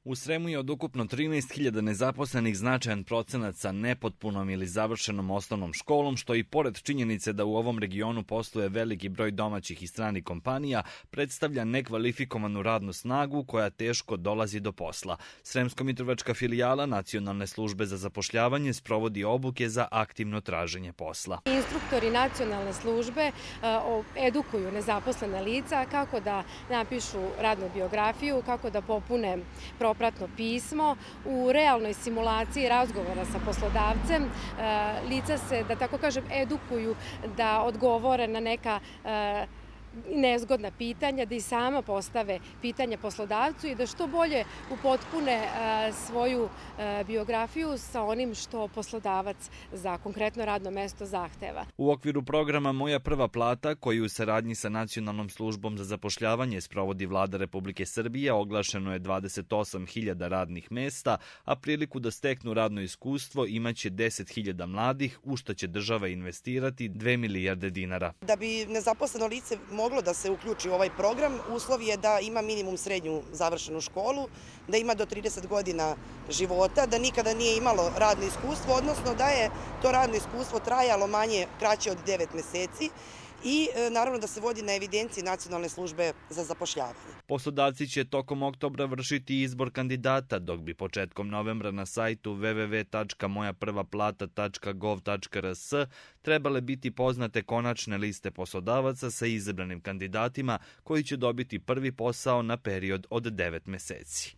U Sremu je od ukupno 13.000 nezaposlenih značajan procenat sa nepotpunom ili završenom osnovnom školom, što i pored činjenice da u ovom regionu posluje veliki broj domaćih i stranih kompanija, predstavlja nekvalifikovanu radnu snagu koja teško dolazi do posla. Sremsko-mitrovačka filijala Nacionalne službe za zapošljavanje sprovodi obuke za aktivno traženje posla. Instruktori nacionalne službe edukuju nezaposlene lica kako da napišu radnu biografiju, kako da popune propratno pismo. U realnoj simulaciji razgovora sa poslodavcem lica se, da tako kažem, edukuju da odgovore na neka nezgodna pitanja, da i sama postave pitanja poslodavcu i da što bolje upotpune svoju biografiju sa onim što poslodavac za konkretno radno mesto zahteva. U okviru programa Moja prva plata, koji u saradnji sa Nacionalnom službom za zapošljavanje sprovodi Vlada Republike Srbije, oglašeno je 28.000 radnih mesta, a priliku da steknu radno iskustvo imaće 10.000 mladih, u što će država investirati 2 milijarde dinara. Da bi nezaposleno lice moglo da se uključi u ovaj program, uslov je da ima minimum srednju završenu školu, da ima do 30 godina života, da nikada nije imalo radno iskustvo, odnosno da je to radno iskustvo trajalo kraće od 9 meseci i naravno da se vodi na evidenciji Nacionalne službe za zapošljavanje. Poslodavci će tokom oktobra vršiti izbor kandidata, dok bi početkom novembra na sajtu www.mojaprvaplata.gov.rs trebale biti poznate konačne liste poslodavaca sa izabranim kandidatima koji će dobiti prvi posao na period od 9 meseci.